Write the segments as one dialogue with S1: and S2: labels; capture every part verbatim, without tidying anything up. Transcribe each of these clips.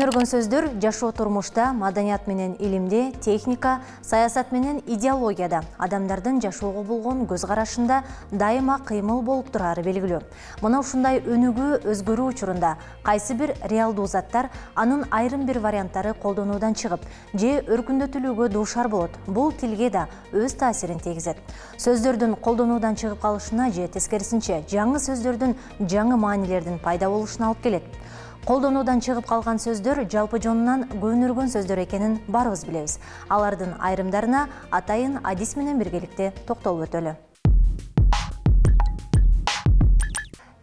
S1: Көнөргөн сөздөр жашоо турмушта, маданият менен илимде, техника, саясат менен идеологияда, адамдардын жашоого болгон көз карашында дайыма кыймыл болуп турары белгилүү. Мына ушундай өнүгүү өзгөрүү учурунда кайсы бир реалдуу заттар анын айрым бир варианттары колдонуудан чыгып, же өркүндөтүлүүгө дуушар болот. Бул тилге да өз таасирин тийгизет. Сөздөрдүн колдонуудан чыгып калышына же тескерисинче жаңы сөздөрдүн жаңы маанилердин пайда болушуна алып келет. Колдонуудан чыгып калган сөздөр жалпы жонунан көнөргөн сөздөр экенин баарыбыз билебиз. Алардын айрымдарына атайын адис менен биргеликте токтолуп өтөлү.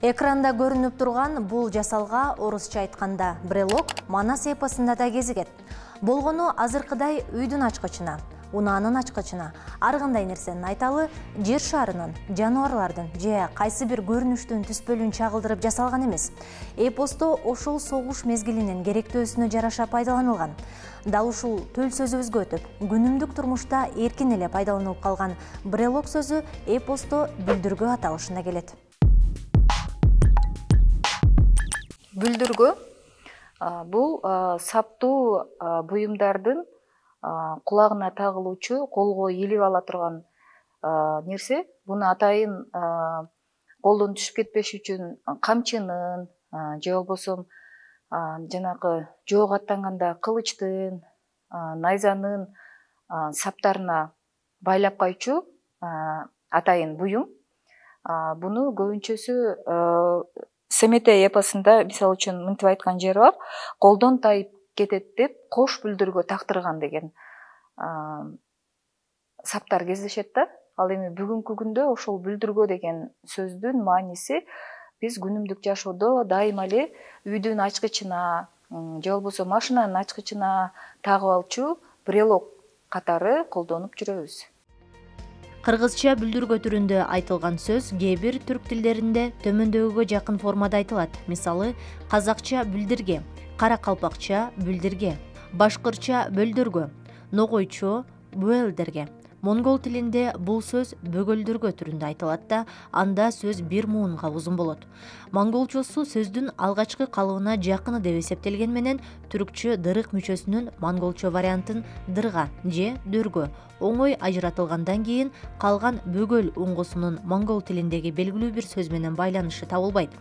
S1: Экранда көрүнүп турган бул жасалга орусча айтканда брелок манас эпосунда да кезигет. Болгону азыркыдай үйдүн ачкычына, унаанын ачкычына, ар кандай нерсенин айталы жер шарынын, жаныбарлардын же кайсы бир көрүнүштүн түспөлүн чагылдырып жасалган эмес. Эпосто ошол согуш мезгилинин керектөөсүнө жараша пайдаланылган. Дал ушул төл сөзүбүзгө өтүп, күнүмдүк турмушта эркин эле пайдаланылып калган брелок сөзү эпосто бүлдүргө аталышына келет.
S2: Бүлдүргө бул саптуу буюмдардын кулагына тагылуучу, колго илип ала турган нерсе. Буну атайын колдон түшүп кетпеш үчүн камчынын же болбосо жанагы жоого аттанганда кылычтын, найзанын саптарына байлап койчу атайын буюм. Буну көбүнчөсү Семетей эпосунда мисалы үчүн мынтип айткан жери бар. Колдон тайып кетет деп кош бүлдүргө тактырган деген саптар кездешет да. Ал эми бүгүнкү күндө ошол бүлдүргө деген сөздүн мааниси биз күнүмдүк жашоодо дайыма эле үйдүн ачкычына же болбосо машинанын ачкычына тагып алчу брелок катары колдонуп жүрөбүз.
S1: Кыргызча бүлдүргө түрүндө айтылган сөз кээ бир түрк тилдеринде төмөндөгүгө жакын формада айтылат. Мисалы, казакча бүлдирге, каракалпакча бүлдирге, башкырча бөлдөргө, ногойчо буэлдерге. Монгол тилинде бул сөз бөгөлдөргө түрүндө айтылат да, анда сөз бир муунга узун болот. Монголчосу сөздүн алгачкы калыбына жакыны деп эсептелген менен түркчө дырык мүчөсүнүн монголчо вариантын дырга же дөргө оңой ажыратылгандан кийин калган бөгөл уңгусунун монгол тилиндеги белгилүү бир сөз менен байланышы табылбайт.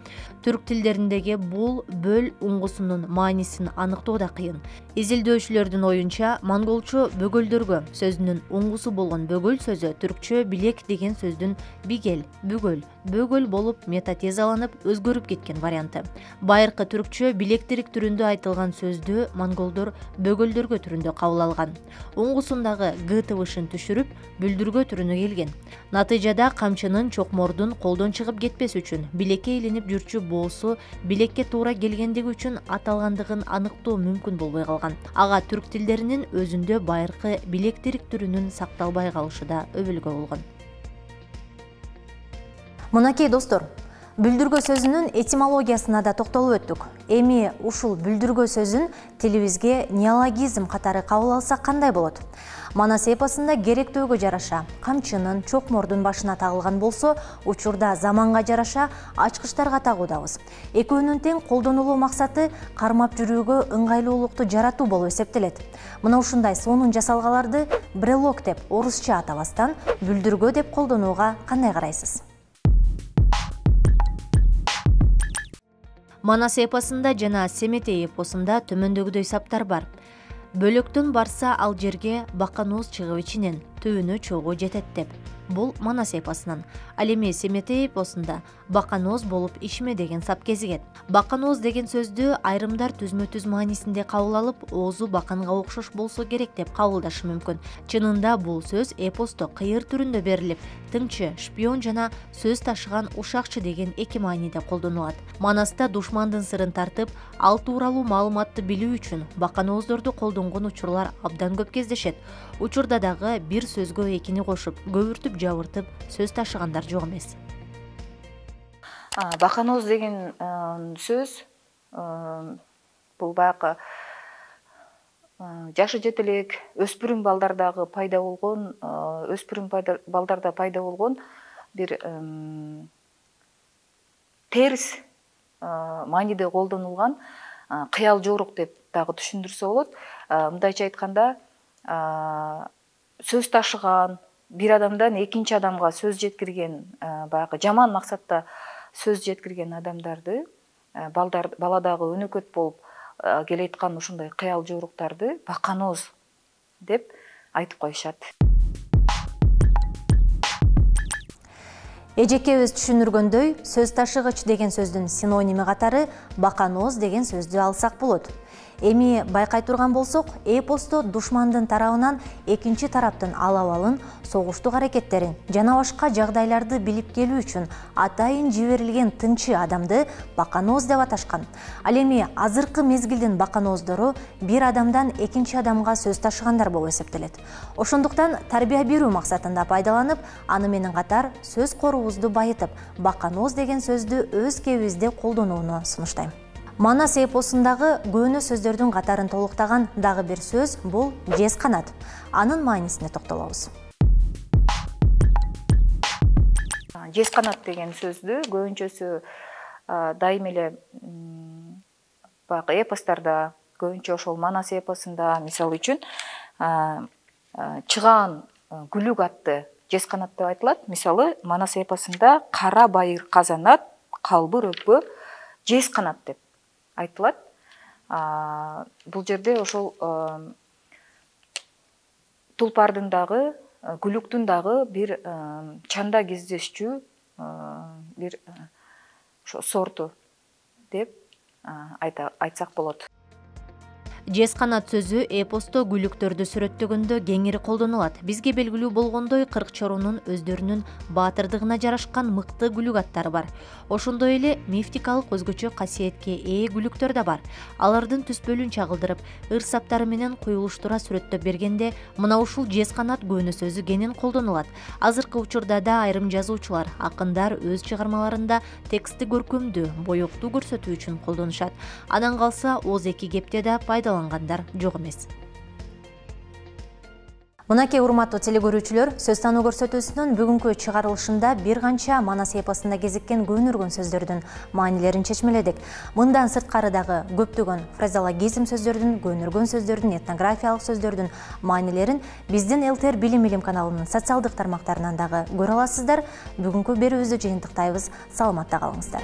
S1: Түрк тилдериндеги бул бөл уңгусунун маанисин аныктоо да кыйын. Изилдөөчүлөрдүн оюнча, монголчо бөгөлдөргө сөзүнүн уңгусу болгон бөгөл сөзү түркчө билек деген сөздүн бигел, бүгөл, бөгөл болуп метатезаланып өзгөрүп кеткен варианты. Байыркы түркчө билектирик түрүндө айтылган сөздү монголдор бөгөлдөргө түрүндө кабыл алган. Уңгусундагы г тыбышын түшүрүп, бүлдүргө түрүнө келген. Натыйжада камчынын чокмордун колдон чыгып кетпес үчүн билекке илинип жүрчү боосу билекке туура келгендиги үчүн аталгандыгын аныктоо мүмкүн болбой калган. Ага түрк тилдеринин өзүндө байыркы билектирик түрүнүн сакталбай калышы да өбөлгө болгон. Мынакей достор, бүлдүргө сөзүнүн этимологиясына да токтолуп өттүк. Эми ушул бүлдүргө сөзүн тилибизге неологизм катары кабыл алсак кандай болот? Манас эпосунда керектөөгө жараша камчынын, чокмордун башына тагылган болсо, учурда заманга жараша ачкычтарга тагуудабыз. Экөөнүн тең колдонулуу максаты кармап жүрүүгө ыңгайлуулукту жаратуу болуп эсептелет. Мына ушундай сонун жасалгаларды брелок деп орусча атабастан бүлдүргө деп колдонууга кандай карайсыз? Манас эпосунда жана Семетей эпосунда төмөндөгүдөй саптар бар. Бөлөктөн барса ал жерге баканооз чыгып ичинен, түбүнө чогуу жетет деп. Бул Манас эпосунан. Ал эми Семетей эпосунда баканооз болуп ишме деген сап кезигет. Баканооз деген сөздү айрымдар түзмө-түз маанисинде кабыл алып, оозу баканга окшош болсо керек деп кабылдашы мүмкүн. Чынында бул сөз эпосто кыйыр түрүндө берилип, тыңчы, шпион жана сөз ташыган ушакчы деген эки мааниде колдонулат. Манаста душмандын сырын тартып, ал тууралуу маалыматты билүү үчүн баканооздорду колдонгон учурлар абдан көп кездешет. Учурда дагы бир сөзгө экини кошуп, көбүртүп жабыртып сөз ташыгандар жок эмес.
S2: Баканооз деген сөз бул баягы жашы жете элек өспүрүм балдардагы пайда болгон, өспүрүм балдарда пайда болгон бир терс мааниде колдонулган кыял жорук деп дагы түшүндүрсө болот. Мындайча айтканда, сөз ташыган, бир адамдан экинчи адамга сөз жеткирген, баягы жаман максатта сөз жеткирген адамдарды, баладагы өнөкөт болуп келеаткан ушундай кыял жоруктарды баканоз деп айтып коюшат.
S1: Эжекебиз түшүндүргөндөй, сөз ташыгыч деген сөздүн синоними катары баканоз деген сөздү алсак болот. Эми байкай турган болсок, эпосто душмандын тарабынан экинчи тараптын алабалын, согуштук аракеттерин жана башка жагдайларды билип келүү үчүн атайын жиберилген тынчы адамды баканоз деп аташкан. Ал эми азыркы мезгилдин баканоздору бир адамдан экинчи адамга сөз ташыгандар болуп эсептелет. Ошондуктан тарбия берүү максатында пайдаланып, аны менен катар сөз коруубузду байытып, баканоз деген сөздү өз кебибизде колдонууну сунуштайм. Манас эпосундагы көөнө сөздөрдүн катарын толуктаган дагы бир сөз бул жез канат. Анын маанисине токтолобуз.
S2: Жез канат деген сөздү көбүнчөсү дайым эле баягы эпостарда, көбүнчө ошол Манас эпосунда, мисалы үчүн, чыгаан күлүк атты жез канат деп айтылат. Мисалы, Манас эпосунда кара байыр казанат, калбыр өпкө жез канат деп айтылат. Бул жерде ошол тулпардын дагы, күлүктүн дагы бир чанда кездешчү бир сорту деп айтсак болот.
S1: Жез канат сөзү эпосто күлүктөрдү сүрөттөгөндө кеңири колдонулат. Бизге белгилүү болгондой, кырк чорунун өздөрүнүн баатырдыгына жарашкан мыкты күлүк аттары бар. Ошондой эле мифтикалык өзгөчө касиетке ээ күлүктөр да бар. Алардын түспөлүн чагылдырып, ыр-саптары менен куюлуштура сүрөттөп бергенде, мына ушул жез канат көөнө сөзү кенен колдонулат. Азыркы учурда да айрым жазуучулар, акындар өз чыгармаларында текстти көркөмдүү, боёктуу көрсөтүү үчүн колдонушат. Анан калса, ооз эки кепте да пайдалангандар жок эмес. Мынакей урматтуу телекөрүүчүлөр, сөз тануу көрсөтүүсүнүн бүгүнкү чыгарылышында бир канча Манас эпосунда кезиккен көөнөргөн сөздөрдүн маанилерин чечмеледик. Мындан сырткары дагы көптөгөн фразеологизм сөздөрдүн, көөнөргөн сөздөрдүн, этнографиялык сөздөрдүн маанилерин биздин эл тэ эр Билим Илим каналынын социалдык тармактарынан дагы көрө аласыздар. Бүгүнкү берүүбүздү жыйынтыктайбыз. Саламатта калыңыздар.